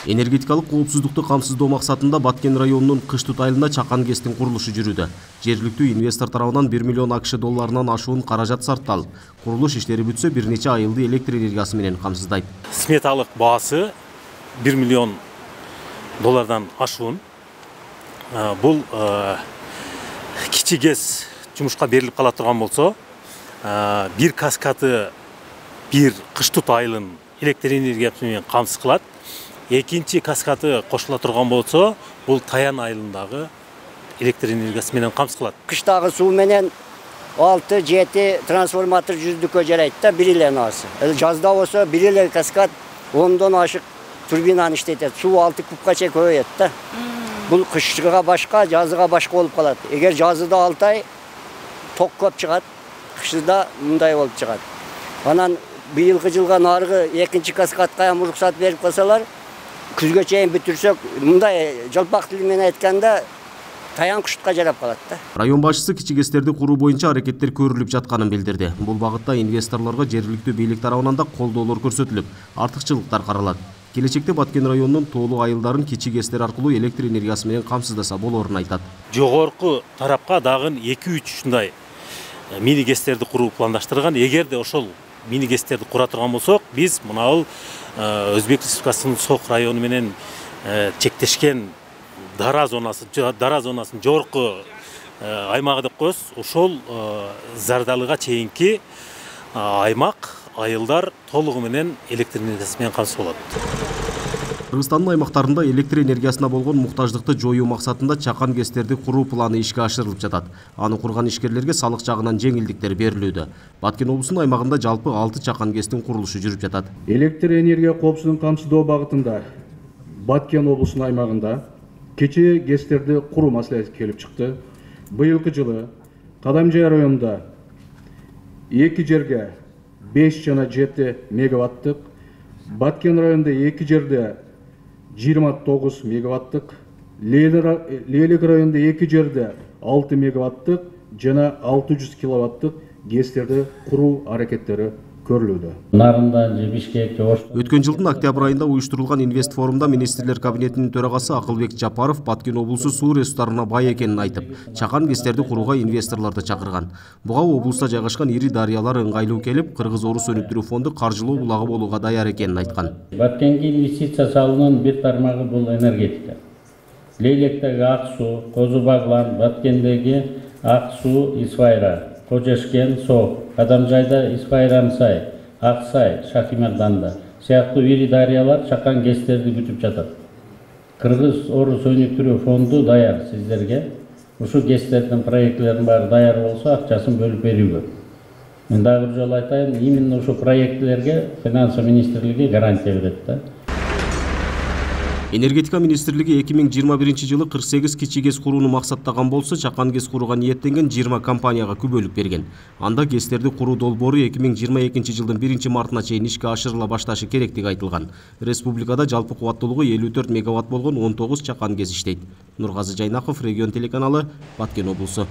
Энергетикалык коопсуздукту камсыздоо максатында Баткен районунун Кыштут айылында чакан ГЭСтин курулушу жүрүүдө. Жергиликтүү инвестор тарабынан 1 миллион АКШ долларынан ашуун каражат сарпталып, курулуш иштери бүтсө бир нече айылды электр энергиясы менен камсыздайт. Сметалык баасы 1 миллион доллардан ашуун. Бул кичи ГЭС жумушка берилип кала турган болсо, бир каскады бир Кыштут айылын электр энергиясы менен камсыз кылат. Экинчи каскады кошула турган болсо, бул Таян айылындагы электр энергиясы менен камсыз кылат. Кыштагы суу менен 6-7 трансформатор жүздүккө жарайт да, бир эле насы. Жазда болсо бир эле каскад 10дон ашык турбинаны иштетет. Суу 6 кубка чейин көбөйөт да. Бул кышыга башка, жазыга башка болуп калат. Эгер жазыда 6 ай ток көп чыгат, кышыда мындай болуп чыгат. Анан быйылкы жылга нарыгы экинчи каскадка уруксат берип калсалар, күзгө чейин бүтүрсөк, мындай жалпак тили менен айтканда Таян Кыштутка жарап калат да. Район башчысы кичи ГЭСтерди куруу боюнча аракеттер көрүлүп жатканын билдирди. Бул багытта инвесторлорго жергиликтүү бийлик тарабынан да колдоолор көрсөтүлүп, артыкчылыктар каралат. Келечекте Баткен районунун тоолуу айылдарын кичи ГЭСтер аркылуу электр энергиясы менен камсыздаса болорун айтат. Жогорку тарапка дагы 2-3 ушундай мини ГЭСтерди куруу пландаштырган. Эгерде ошол мини ГЭСтерди кура турган болсок, биз мына Өзбек Республикасынын Сок району менен чектешкен дара зонасын жогорку аймагы деп коебуз. Ошол Зардалыга чейинки аймак айылдар толугу менен электр энергиясы менен камсыз болот. Кыргызстандын аймактарында электр энергиясына болгон муктаждыкты жоюу максатында чакан ГЭСтерди куруу планы ишке ашырылып жатат. Аны курган ишкерлерге салык жагынан жеңилдиктер берилүүдө. Баткен облусунун аймагында жалпы 6 чакан ГЭСтин курулушу жүрүп жатат. Электр энергия коопсуздугун камсыздоо багытында Баткен облусунун аймагында кичи ГЭСтерди куруу маселеси келип чыкты. Быйылкы жылы Кадамжай районунда 2 жерге 5 жана 7 мегаваттык, Баткен районунда 2 жерде 29 мегаваттык, Лейлик районунда 2 жерде 6 мегаваттык жана 600 киловаттык ГЭСтерди куруу аракеттери көрүлүүдө. Өткөн жылдын октябрь айында уюштурулган инвест форумда министрлер кабинетинин төрагасы Акылбек Жапаров Баткен облусу суу ресурстарына бай экенин айтып, чакан ГЭСтерди курууга инвесторлорду чакырган. Буга облуста жайгашкан ири дарыялар ыңгайлуу келип, Кыргыз-Орус өнүктүрүү фонду каржылоо булагы болууга даяр экенин айткан. Баткенге инвестиция салуунун бир тармагы бул энергетика. Лейлектеги ак суу, Козу Баглан, Баткендеги ак суу, Исфайра, Кожешкен, Сок, Кадамжайда Исфайран сай, Аксай, Шахимарданда сыяктуу ири дарыялар чакан ГЭСтерди күтүп жатат. Кыргыз-Орус өнүктүрүү фонду даяр сиздерге. Ушу ГЭСтердин проектлерин баары даяр болсо, акчасын бөлүп берүүгө. Мен дагы бир жолу айтайын, именно ушу проектлерге Финансы министрлиги гарантия берет да. Энергетика министрлиги 2021 жылы 48 кичи ГЭС курууну максаттаган болсо, чакан ГЭС курууга ниеттенген 20 компанияга күбөлүк берген. Анда ГЭСтерди куруу долбоору 2022 жылдын 1 мартына чейин ишке ашырыла башташы керектиги айтылган. Республикада жалпы кубаттуулугу 54 мегаватт болгон 19 чакан ГЭС иштейт. Нургазы Жайнаков, Регион телеканалы, Баткен облусу.